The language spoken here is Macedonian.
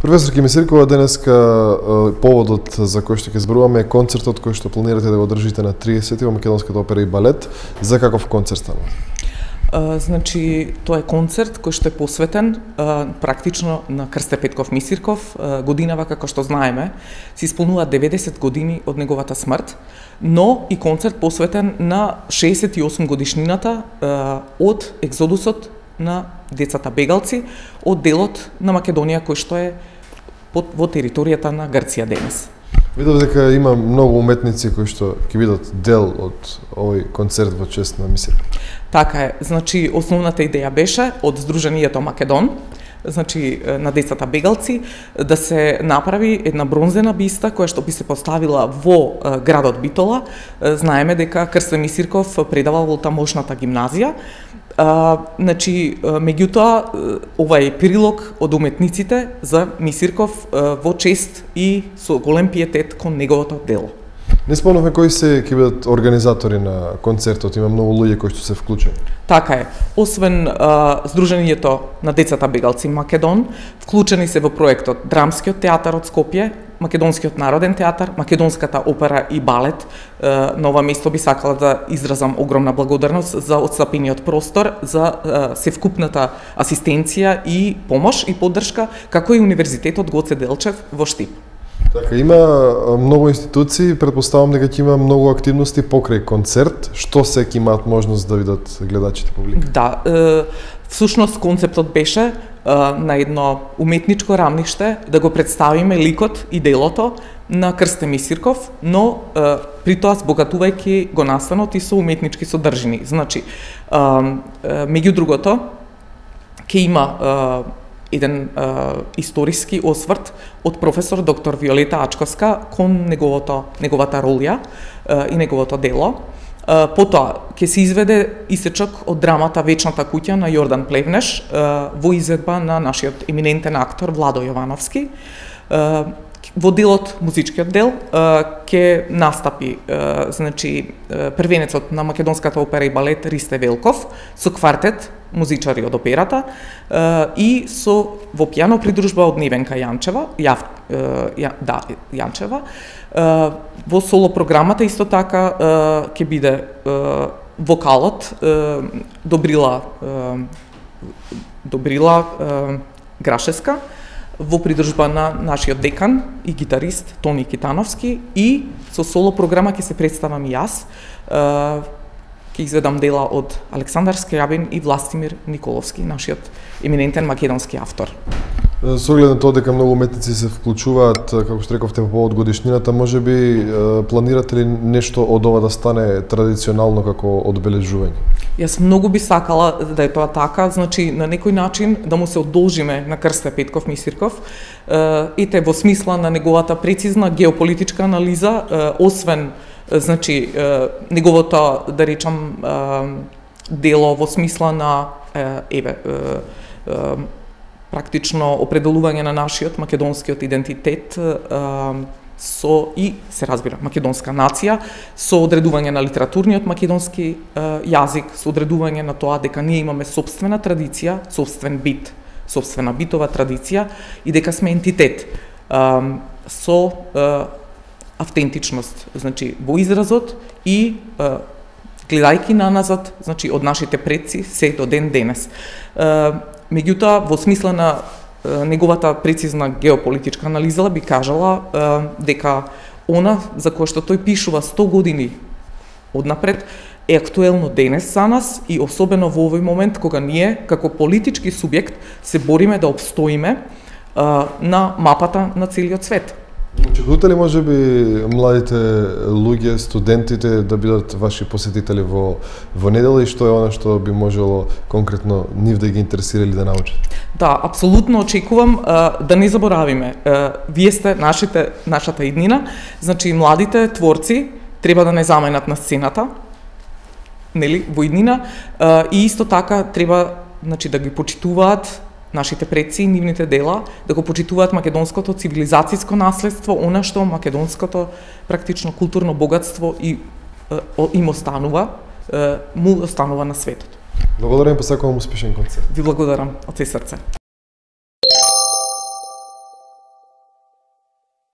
Професор Кимисиркова, денеска поводот за кој што ќе зборуваме е концертот кој што планирате да го одржите на 30 во Македонската опера и балет. За каков концерт става? Значи, тоа е концерт кој што е посветен практично на Крсте Петков Мисирков. Годинава, како што знаеме, се исполнува 90 години од неговата смрт, но и концерт посветен на 68 годишнината од екзодусот на децата бегалци од делот на Македонија кој што е во територијата на Грција денес. Видов дека има многу уметници кои што ќе бидат дел од овој концерт во чест на Мисирков. Така е, значи основната идеја беше од Сдруженијето Македон, значи на децата бегалци, да се направи една бронзена биста која што би се поставила во градот Битола. Знаеме дека Крсте Мисирков предавал во тамошната гимназија. Значи, меѓутоа, ова е прилог од уметниците за Мисирков во чест и со голем пиетет кон неговото дело. Не спомнавме кои се ќе бидат организатори на концертот, има многу луѓе кои што се вклучени. Така е. Освен Сдруженијето на децата бегалци Македон, вклучени се во проектот Драмскиот театар од Скопје, Македонскиот народен театар, Македонската опера и балет. На ова место би сакала да изразам огромна благодарност за отстапениот простор, за севкупната асистенција и помош и поддршка, како и Универзитетот Гоце Делчев во Штип. Така, има многу институции, предпоставам дека ќе има многу активности покрај концерт. Што се ќе имаат можност да видат гледачите, публика? Да, всушност концептот беше на едно уметничко рамниште да го представиме ликот и делото на Крсте Мисирков, но при тоа збогатувајќи го настанот и со уметнички содржини. Значи, меѓу другото, ќе има еден историски осврт од професор доктор Виолета Ачковска кон неговата ролја и неговото дело. Потоа ќе се изведе исечок од драмата Вечната куќа на Јордан Плевнеш во изведба на нашиот еминентен актор Владо Јовановски. Во делот, музичкиот дел, ќе настапи значи првенецот на Македонската опера и балет Ристе Велков со квартет музичари од операта и со во пијано придружба од Невенка Јанчева, Јанчева. Во соло програмата исто така ќе биде вокалот Добрила Грашеска во придружба на нашиот декан и гитарист Тони Китановски, и со соло програма ќе се представам и јас. Ќе изведам дела од Александар Скрјабин и Властимир Николовски, нашиот еминентен македонски автор. Со оглед на тоа дека многу уметници се вклучуваат, како што рековте, по повод годишнината, можеби планирате ли нешто од ова да стане традиционално како одбележување? Јас многу би сакала да е тоа така, значи на некој начин да му се одолжиме на Крсте Петков Мисирков, ете во смисла на неговата прецизна геополитичка анализа, освен значи неговото, да речам, дело во смисла на практично определување на нашиот македонскиот идентитет со и се разбира македонска нација, со одредување на литературниот македонски јазик, со одредување на тоа дека ние имаме собствена традиција, собствен бит, собствена битова традиција и дека сме ентитет со автентичност, значи во изразот и гледајќи наназад, значи од нашите предци се до ден денес. Меѓутоа, во смисла на неговата прецизна геополитичка анализа би кажала дека она за кое што тој пишува 100 години однапред е актуелно денес за нас и особено во овој момент кога ние како политички субјект се бориме да обстоиме на мапата на целиот свет. Очекувате ли можеби младите луѓе, студентите да бидат ваши посетители во недела, и што е она што би можело конкретно нив да ги интересира или да научат? Да, апсолутно очекувам да не заборавиме. Вие сте нашата иднина, значи младите творци треба да не заменат на сцената, нели, во иднина, и исто така треба, значи, да ги почитуваат нашите предци и нивните дела, да го почитуваат македонското цивилизацијско наследство, она што македонското практично културно богатство и им останува, му останува на светот. Благодарам и посакувам успешен концерт. Ви благодарам од се срце.